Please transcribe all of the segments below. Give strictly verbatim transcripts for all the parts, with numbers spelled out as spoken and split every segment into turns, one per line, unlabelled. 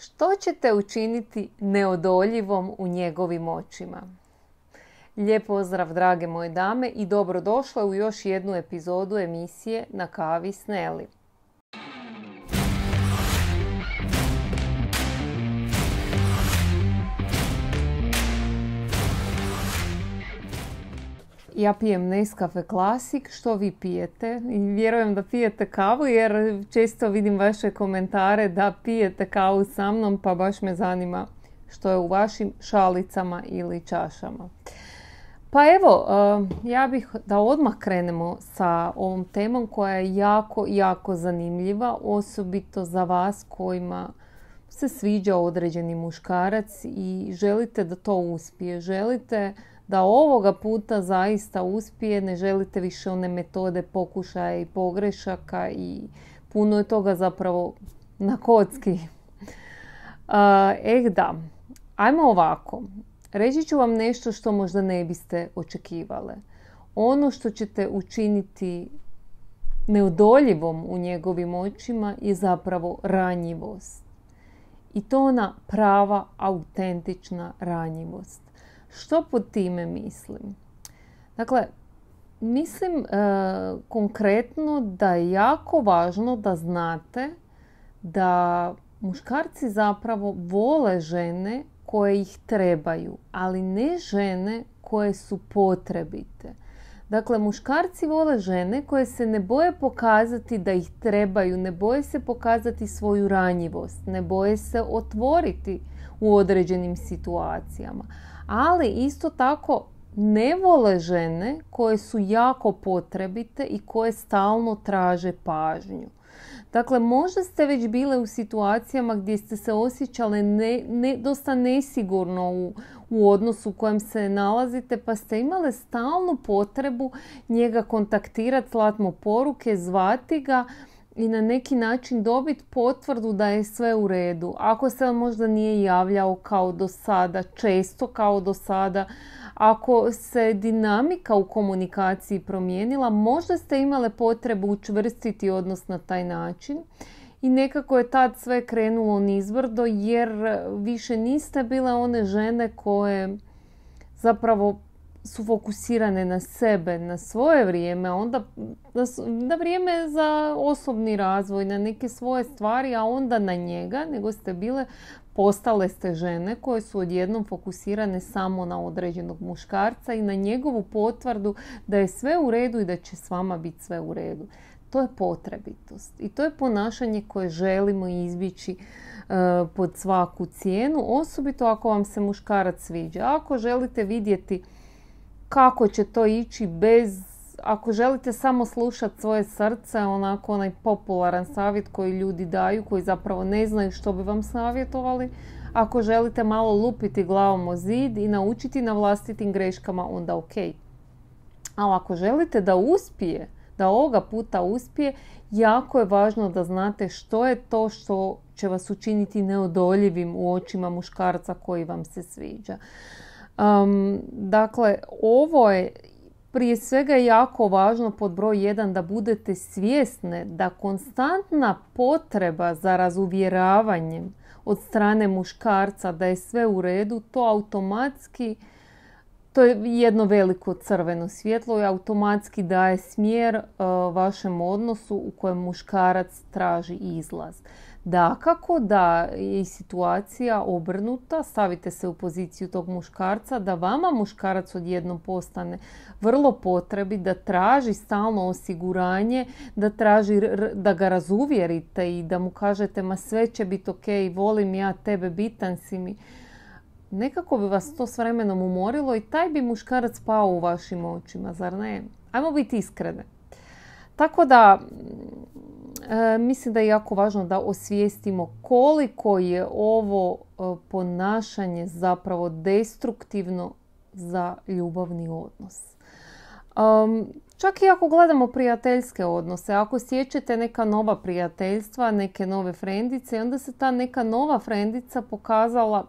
Što ćete učiniti neodoljivom u njegovim očima? Lijep pozdrav, drage moje dame, i dobrodošle u još jednu epizodu emisije Na kavi s Neli. Ja pijem Nescafe Classic, što vi pijete? I vjerujem da pijete kavu jer često vidim vaše komentare da pijete kavu sa mnom, pa baš me zanima što je u vašim šalicama ili čašama. Pa evo, ja bih da odmah krenemo sa ovom temom koja je jako, jako zanimljiva, osobito za vas kojima se sviđa određeni muškarac i želite da to uspije. Želite da ovoga puta zaista uspije, ne želite više one metode pokušaja i pogrešaka i puno je toga zapravo na kocki. Eh da, ajmo ovako. Reći ću vam nešto što možda ne biste očekivale. Ono što ćete učiniti neodoljivom u njegovim očima je zapravo ranjivost. I to ona prava, autentična ranjivost. Što pod time mislim? Dakle, mislim e, konkretno da je jako važno da znate da muškarci zapravo vole žene koje ih trebaju, ali ne žene koje su potrebite. Dakle, muškarci vole žene koje se ne boje pokazati da ih trebaju, ne boje se pokazati svoju ranjivost, ne boje se otvoriti u određenim situacijama. Ali isto tako ne vole žene koje su jako potrebite i koje stalno traže pažnju. Dakle, možda ste već bile u situacijama gdje ste se osjećale ne, ne, dosta nesigurno u, u odnosu u kojem se nalazite, pa ste imale stalnu potrebu njega kontaktirati, slati mu poruke, zvati ga i na neki način dobiti potvrdu da je sve u redu. Ako se on možda nije javljao kao do sada, često kao do sada, ako se dinamika u komunikaciji promijenila, možda ste imale potrebu učvrstiti odnos na taj način i nekako je tad sve krenulo nizbrdo jer više niste bile one žene koje zapravo su fokusirane na sebe, na svoje vrijeme, onda na, na vrijeme za osobni razvoj, na neke svoje stvari, a onda na njega, nego ste bile, postale ste žene koje su odjednom fokusirane samo na određenog muškarca i na njegovu potvrdu da je sve u redu i da će s vama biti sve u redu. To je potrebitost i to je ponašanje koje želimo izbjeći uh, pod svaku cijenu, osobito ako vam se muškarac sviđa. Ako želite vidjeti kako će to ići bez, ako želite samo slušati svoje srce, onako onaj popularan savjet koji ljudi daju, koji zapravo ne znaju što bi vam savjetovali, ako želite malo lupiti glavom o zid i naučiti na vlastitim greškama, onda ok. Ali ako želite da uspije, da ovoga puta uspije, jako je važno da znate što je to što će vas učiniti neodoljivim u očima muškarca koji vam se sviđa. Um, dakle, ovo je prije svega jako važno pod broj jedan da budete svjesne da konstantna potreba za razuvjeravanjem od strane muškarca da je sve u redu, to automatski, to je jedno veliko crveno svjetlo i automatski daje smjer uh, vašem odnosu u kojem muškarac traži izlaz. Dakako da je i situacija obrnuta, stavite se u poziciju tog muškarca, da vama muškarac odjednom postane vrlo potrebi, da traži stalno osiguranje, da traži da ga razuvjerite i da mu kažete ma sve će biti ok, volim ja tebe, bitan si mi. Nekako bi vas to s vremenom umorilo i taj bi muškarac pao u vašim očima, zar ne? Ajmo biti iskrene. Tako da e, mislim da je jako važno da osvijestimo koliko je ovo e, ponašanje zapravo destruktivno za ljubavni odnos. Um, čak i ako gledamo prijateljske odnose, ako sjećate neka nova prijateljstva, neke nove frendice, onda se ta neka nova frendica pokazala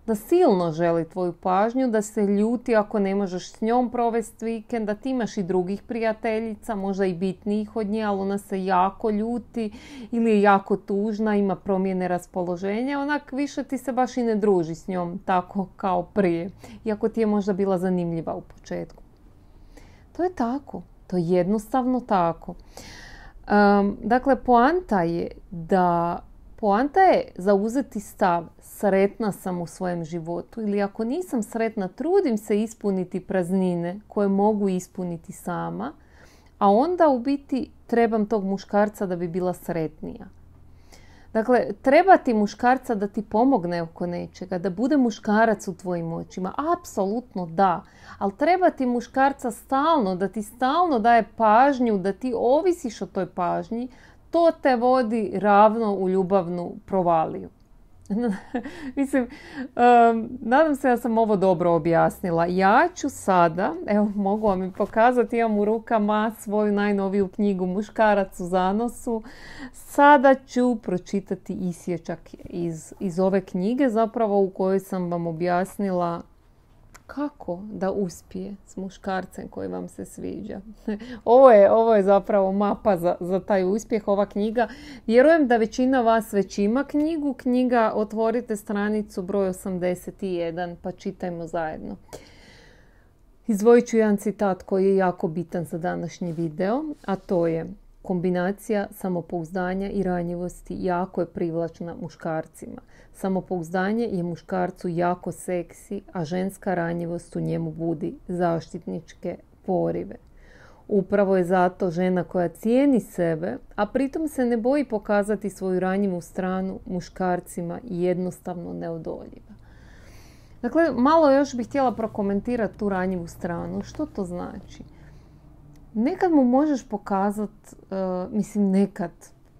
da silno želi tvoju pažnju, da se ljuti ako ne možeš s njom provesti vikend, da ti imaš i drugih prijateljica, možda i bitnijih od nje, ali ona se jako ljuti ili je jako tužna, ima promjene raspoloženja, onak više ti se baš i ne druži s njom tako kao prije, iako ti je možda bila zanimljiva u početku. To je tako, to je jednostavno tako. Um, dakle, poanta je da Poanta je zauzeti stav, sretna sam u svojem životu, ili ako nisam sretna, trudim se ispuniti praznine koje mogu ispuniti sama, a onda u biti trebam tog muškarca da bi bila sretnija. Dakle, treba ti muškarca da ti pomogne oko nečega, da bude muškarac u tvojim očima. Apsolutno da. Ali treba ti muškarca stalno, da ti stalno daje pažnju, da ti ovisiš o toj pažnji. To te vodi ravno u ljubavnu provaliju. Mislim, um, nadam se da sam ovo dobro objasnila. Ja ću sada, evo mogu vam i pokazati, imam u rukama svoju najnoviju knjigu Muškarac u zanosu. Sada ću pročitati isječak iz, iz ove knjige, zapravo u kojoj sam vam objasnila kako da uspije s muškarcem koji vam se sviđa. Ovo je, ovo je zapravo mapa za, za taj uspjeh, ova knjiga. Vjerujem da većina vas već ima knjigu. Knjiga, otvorite stranicu broj osamdeset jedan pa čitajmo zajedno. Izdvojit ću jedan citat koji je jako bitan za današnji video, a to je: kombinacija samopouzdanja i ranjivosti jako je privlačna muškarcima. Samopouzdanje je muškarcu jako seksi, a ženska ranjivost u njemu budi zaštitničke porive. Upravo je zato žena koja cijeni sebe, a pritom se ne boji pokazati svoju ranjivu stranu, muškarcima jednostavno neodoljiva. Dakle, malo još bih htjela prokomentirati tu ranjivu stranu. Što to znači? Nekad mu možeš pokazati, uh, mislim nekad,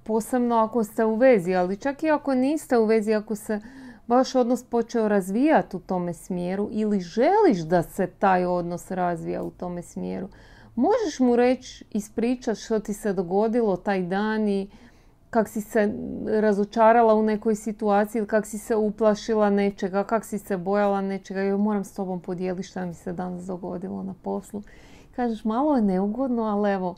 posebno ako ste u vezi, ali čak i ako niste u vezi, ako se vaš odnos počeo razvijati u tome smjeru ili želiš da se taj odnos razvija u tome smjeru, možeš mu reći, ispričati što ti se dogodilo taj dan i kak si se razočarala u nekoj situaciji ili kak si se uplašila nečega, kak si se bojala nečega. Joj, moram s tobom podijeliti što mi se danas dogodilo na poslu. Kažeš, malo je neugodno, ali evo,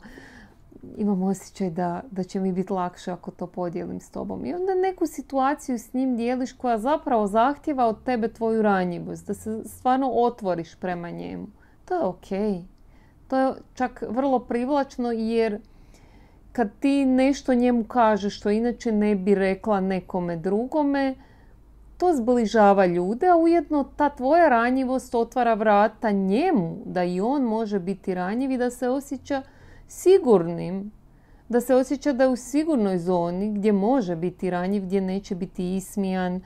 imam osjećaj da, da će mi biti lakše ako to podijelim s tobom. I onda neku situaciju s njim dijeliš koja zapravo zahtjeva od tebe tvoju ranjivost, da se stvarno otvoriš prema njemu. To je okej. To je čak vrlo privlačno, jer kad ti nešto njemu kažeš što inače ne bi rekla nekome drugome, to zbližava ljude, a ujedno ta tvoja ranjivost otvara vrata njemu, da i on može biti ranjiv i da se osjeća sigurnim, da se osjeća da je u sigurnoj zoni gdje može biti ranjiv, gdje neće biti ismijan,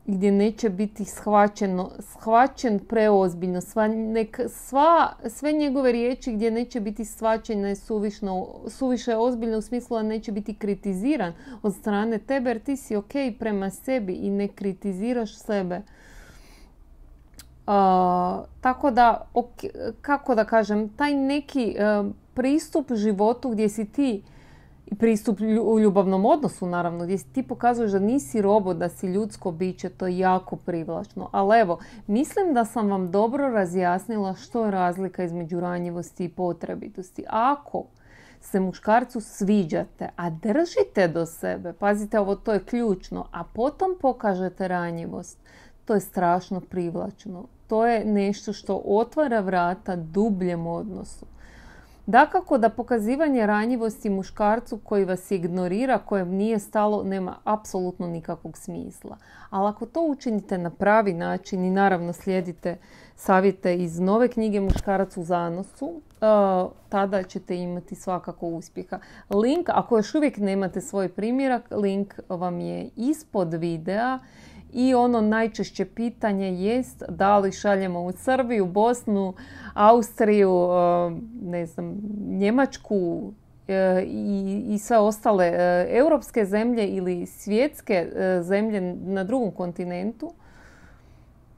gdje neće biti shvaćeno, shvaćen preozbiljno, sva, nek, sva, sve njegove riječi gdje neće biti shvaćene suvišno, suviše ozbiljno u smislu da neće biti kritiziran od strane tebe, jer ti si ok prema sebi i ne kritiziraš sebe. Uh, tako da, okay, kako da kažem, taj neki uh, pristup životu gdje si ti, i pristup u ljubavnom odnosu naravno, gdje ti pokazuješ da nisi robot, da si ljudsko biće, to je jako privlačno. Ali evo, mislim da sam vam dobro razjasnila što je razlika između ranjivosti i potrebitosti. Ako se muškarcu sviđate, a držite do sebe, pazite ovo, to je ključno, a potom pokažete ranjivost, to je strašno privlačno. To je nešto što otvara vrata dubljem odnosu. Dakako da pokazivanje ranjivosti muškarcu koji vas ignorira, kojem nije stalo, nema apsolutno nikakvog smisla. Ali ako to učinite na pravi način i naravno slijedite savjete iz nove knjige Muškarac u zanosu, uh, tada ćete imati svakako uspjeha. Link, ako još uvijek nemate svoj primjerak, link vam je ispod videa. I ono najčešće pitanje jest da li šaljemo u Srbiju, Bosnu, Austriju, ne znam, Njemačku i, i sve ostale europske zemlje ili svjetske zemlje na drugom kontinentu.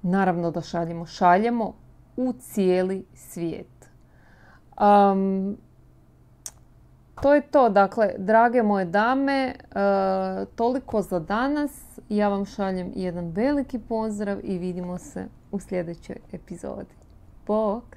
Naravno da šaljemo. Šaljemo u cijeli svijet. Um, to je to. Dakle, drage moje dame, toliko za danas. Ja vam šaljem jedan veliki pozdrav i vidimo se u sljedećoj epizodi. Bok!